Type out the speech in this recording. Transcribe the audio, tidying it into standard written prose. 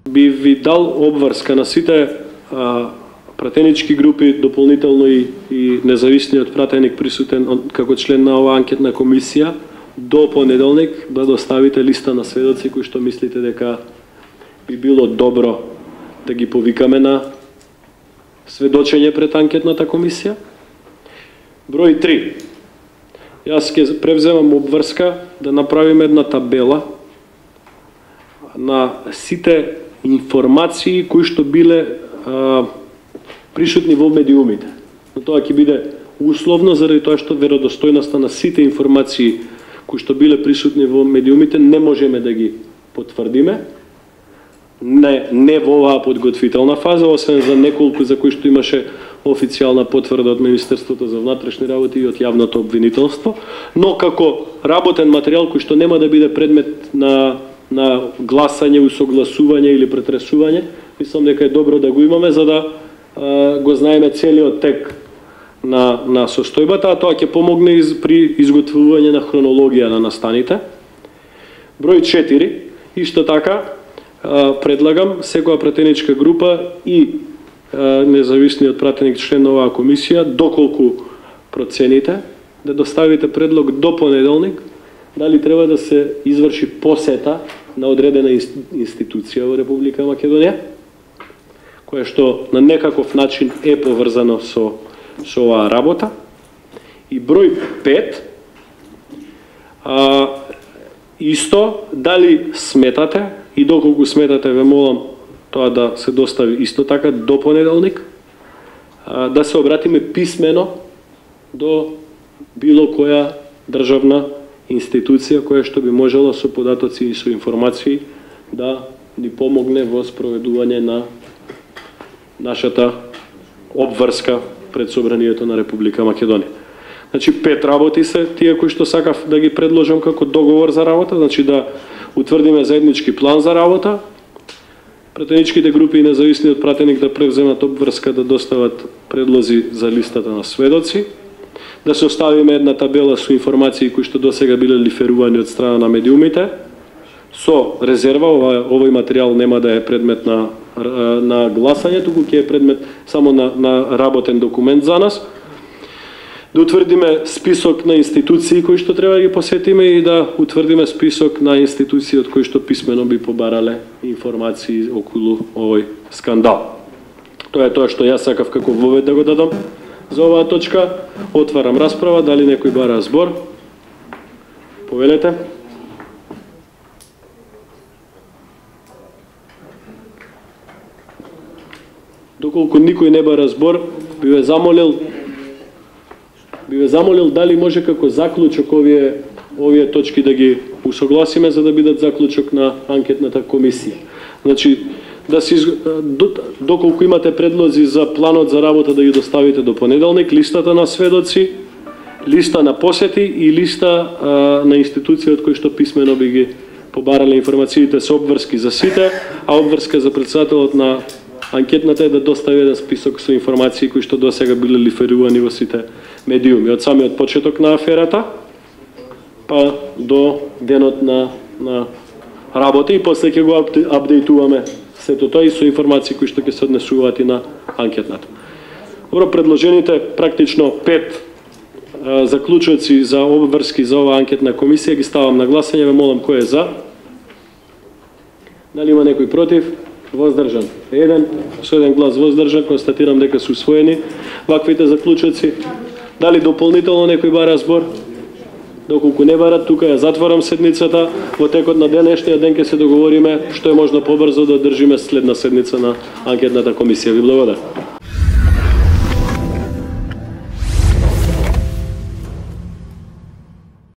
би ви дал обврска на сите пратенички групи, дополнително и независниот пратеник присутен како член на оваа анкетна комисија, до понеделник да доставите листа на сведоци кои што мислите дека би било добро да ги повикаме на сведочење пред анкетната комисија. Број 3. Јас ќе превземам обврска да направиме една табела на сите информации кои што биле присутни во медиумите. Но тоа ќе биде условно заради тоа што веродостојноста на сите информации кои што биле присутни во медиумите не можеме да ги потврдиме. Не во оваа подготвителна фаза, освен за неколку за кои што имаше официјална потврда од Министерството за внатрешни работи и од јавното обвинителство, но како работен материјал кој што нема да биде предмет на гласање, усогласување или претресување, мислам дека е добро да го имаме за да го знаеме целиот тек на состојбата, а тоа ќе помогне при изготвување на хронологија на настаните. Број 4, исто така, предлагам секоја пратеничка група и независниот пратеник член на оваа комисија, доколку процените, да доставите предлог до понеделник, дали треба да се изврши посета на одредена институција во Република Македонија, која што на некаков начин е поврзано со оваа работа. И број 5, исто, дали сметате, и доколку сметате, ве молам тоа да се достави исто така до понеделник, да се обратиме писмено до било која државна институција која што би можела со податоци и со информации да ни помогне во спроведување на нашата обврска пред Собранието на Република Македонија. Значи 5 работи се тие кои што сакав да ги предложам како договор за работа, значи да утврдиме заеднички план за работа, пратеничките групи и независниот пратеник да превземат обврска да достават предлози за листата на сведоци, да се оставиме една табела со информации кои што досега биле лиферувани од страна на медиумите, со резерва, овој материјал нема да е предмет на гласање, туку ќе е предмет само на работен документ за нас, да утврдиме список на институции кои што треба да ги посетиме и да утврдиме список на институции од кои што писмено би побарале информации околу овој скандал. Тоа е тоа што јас сакав како вовед да го дадам за оваа точка. Отварам расправа, дали некој бара збор? Повелете. Доколку никој не бара збор, би ве замолил дали може како заклучок овие точки да ги усогласиме за да бидат заклучок на анкетната комисија. Значи, доколку имате предлози за планот за работа да ги доставите до понеделник, листата на сведоци, листа на посети и листа на институција од кои што писмено би ги побарале информациите со обврски за сите, а обврска за председателот на анкетната е да достави еден список со информации кои што досега биле лиферувани во сите медиуми, од самиот почеток на аферата па до денот на работа и после ќе го апдейтуваме сето тоа и со информации кои што ќе се однесуваат и на анкетната. Добро, предложените практично 5 заклучоци за обврски за оваа анкетна комисија ги ставам на гласање, ве молам кој е за? Дали има некој против? Воздржан. Со еден глас воздржан, констатирам дека се усвоени ваквите заклучоци. Дали дополнително некој бара збор? Доколку не барат, тука ја затворам седницата. Во текот на денешниот ден ќе се договориме што е можно побрзо да одржиме следна седница на анкетната комисија. Ви благодарам.